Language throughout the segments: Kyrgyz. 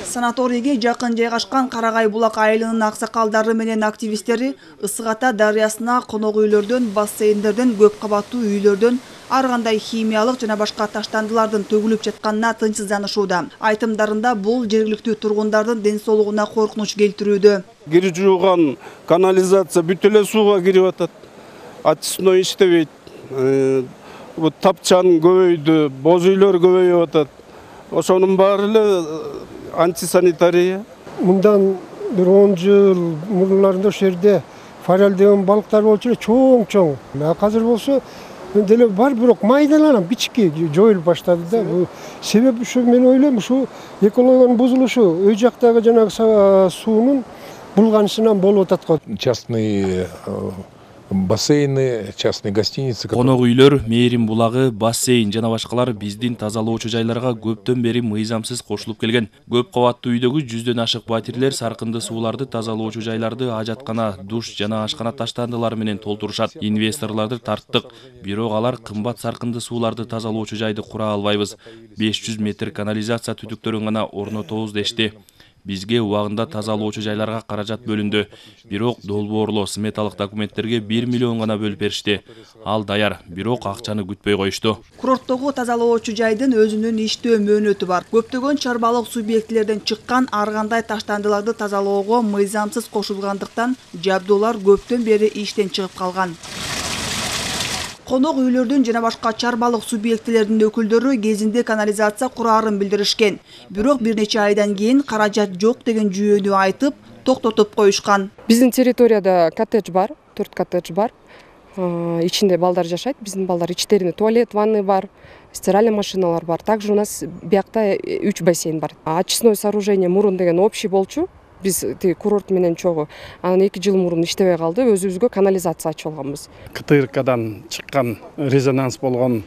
Санаторийге жакын жайгашкан Карагай булак айылынын аксакалдары менен активисттери Ысык Ата дарыясына конок үйлөрдөн, бассейндерден, көп кабаттуу үйлөрдөн ар кандай химиялык жана башка таштандылардын төгүлүп жатканына тынчсызданышууда. Айтымдарында бул жергиликтүү тургундардын ден соолугуна коркунуч келтирүүдө. Кир жууган канализация бүт эле сууга кирип атат. Очистной иштебейт. Тапчан көбөйдү, боз үйлөр көбөйүп атат. Ошонун баары эле антисанитария. Мындан бир 10 жыл мурунларында ошол жерде форель деген балыктар болчу эле, чоң. Азыр болсо деле бар, бирок майдаланып кичике жоюлуп баштады да. Себеби ушу, мен ойлойм, ушу экологиянын бузулушу, өй жактагы жанагы суунун булганышынан болуп атат го. Частный бассейны, частные гостиницы. Конок үйлөр, Мээрим булагы, бассейн жана башкалар биздин тазалоочу жайларга көптөн бери мыйзамсыз кошулуп келген. Көп кабаттуу үйдөгү 100дөн ашык батирлер саркынды сууларды тазалоочу жайларды ажаткана, душ жана ашкана таштандылары менен толтурушат. Инвесторлорду тарттык, бирок алар кымбат саркынды сууларды тазалоочу жайды кура албайбыз. 500 метр канализация түтүктөрүн гана орнотобуз дешти. Бизге убагында тазалоочу жайларга каражат бөлүндү. Бирок долбоорлоо сметалык документтерге 1 миллион гана бөлүп беришти. Ал даяр, бирок акчаны күтпөй коюшту. Курорттогу тазалоочу жайдын өзүнүн иштөө мөөнөтү бар. Көптөгөн чарбалык субъектилерден чыккан ар кандай таштандыларды тазалоого мыйзамсыз кошулгандыктан жабдуулар көптөн бери иштен чыгып калган. Конок үйлөрдүн жана башка чарбалык субъектилердин өкүлдөрү кезинде канализация кураарын билдиришкен. Бирок бир нече айдан кийин каражат жок деген жүйөнү айтып, токтотуп коюшкан. Биздин территорияда коттедж бар, 4 коттедж бар. Ичинде балдар жашайт. Биздин балдар ичтеринде туалет, ванны бар, стиральный машиналар бар. Также у нас биякта 3 бассейн бар. Очистное сооружение мурун деген общий болчу. Биз курорт менен чогуу. Анан 2 жыл мурун иштебей калды. Өзүбүзгө канализация ачып алганбыз. КТРКдан чыккан резонанс болгон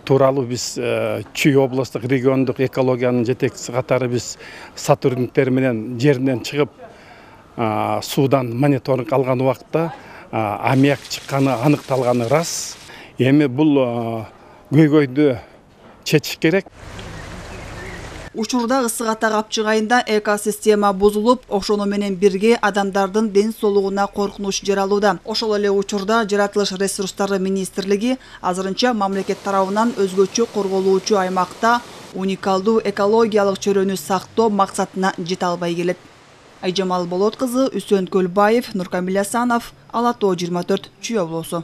тууралуу биз Чүй областтык региондук экологиянын жетекчиси катары биз сотрудниктер менен жеринен чыгып суудан мониторинг алган убакта аммиак чыкканы аныкталганы рас. Эми бул көйгөйдү чечиш керек. Учурда Ысык Ата капчыгайында экосистема бузулуп, ошону менен бирге адамдардын ден соолугуна коркунуч жаралууда. Ошол эле учурда Жаратылыш ресурстары министрлиги азырынча мамлекет тарабынан өзгөчө корголуучу аймакта уникалдуу экологиялык чөрөнү сактоо максатына жете албай келет. Айжамал Болот кызы, Үсөн Көлбаев, Нуркамил Асанов, Ала Тоо 24, Чүй облусу.